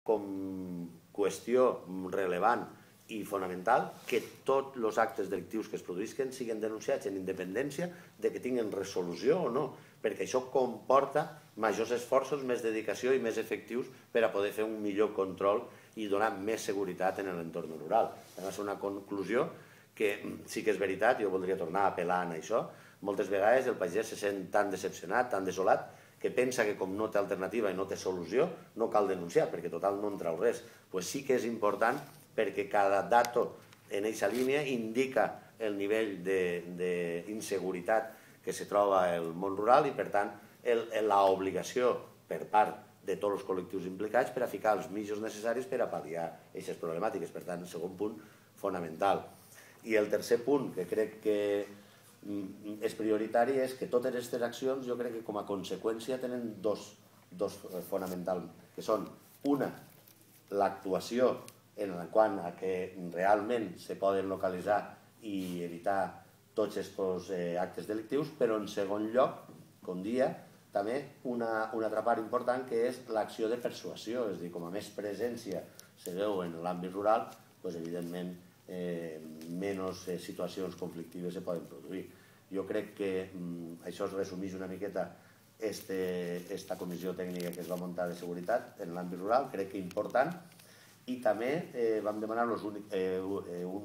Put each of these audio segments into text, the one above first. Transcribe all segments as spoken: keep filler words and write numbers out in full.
com qüestió rellevant i fonamental que tots els actes delictius que es produïsquen siguin denunciats en independència de que tinguin resolució o no, perquè això comporta majors esforços, més dedicació i més efectius per a poder fer un millor control i donar més seguretat en l'entorn rural. Va ser una conclusió que sí que és veritat, jo voldria tornar a apel·lar a això, moltes vegades el pagès se sent tan decepcionat, tan desolat, que pensa que com no té alternativa i no té solució, no cal denunciar, perquè total no en trau res. Doncs sí que és important perquè cada dato en aquesta línia indica el nivell d'inseguretat que se troba el món rural i, per tant, l'obligació per part de tots els col·lectius implicats per a ficar els mitjans necessaris per a pal·liar aquestes problemàtiques. Per tant, el segon punt fonamental. I el tercer punt, que crec que és prioritari, és que totes aquestes accions, jo crec que com a conseqüència tenen dos fonamentals, que són, una, l'actuació en quant a que realment se poden localitzar i evitar tots aquests actes delictius, però en segon lloc, com dia, també una altra part important que és l'acció de persuasió, és a dir, com a més presència se veu en l'àmbit rural, doncs evidentment menys situacions conflictives se poden produir. Jo crec que això es resumeix una miqueta aquesta comissió tècnica que es va muntar de seguretat en l'àmbit rural, crec que important, i també vam demanar-los un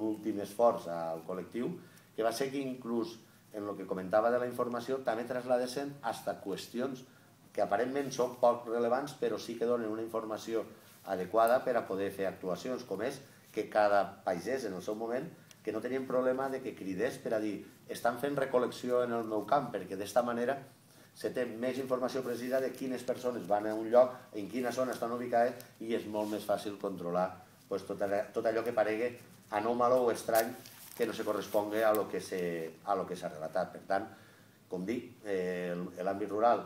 últim esforç al col·lectiu, que va ser que inclús en el que comentava de la informació també trasladessin fins a qüestions que aparentment són poc rellevants però sí que donen una informació adequada per a poder fer actuacions, com és que cada pagès en el seu moment que no tenien problema de que cridés per a dir estan fent recol·lecció en el meu camp, perquè d'esta manera se té més informació precisa de quines persones van a un lloc, en quina zona estan ubicades, i és molt més fàcil controlar tot allò que paregui anòmalo o estrany que no se correspongui a lo que s'ha relatat. Per tant, com dic, l'àmbit rural,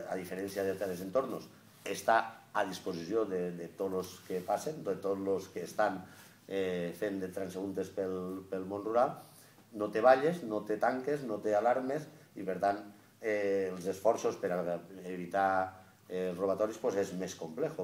a diferència d'altres entorns, està a disposició de tots els que passen, de tots els que estan fent de transeúntes pel món rural, no té valles, no té tanques, no té alarmes, i per tant els esforços per evitar els robatoris és més complex.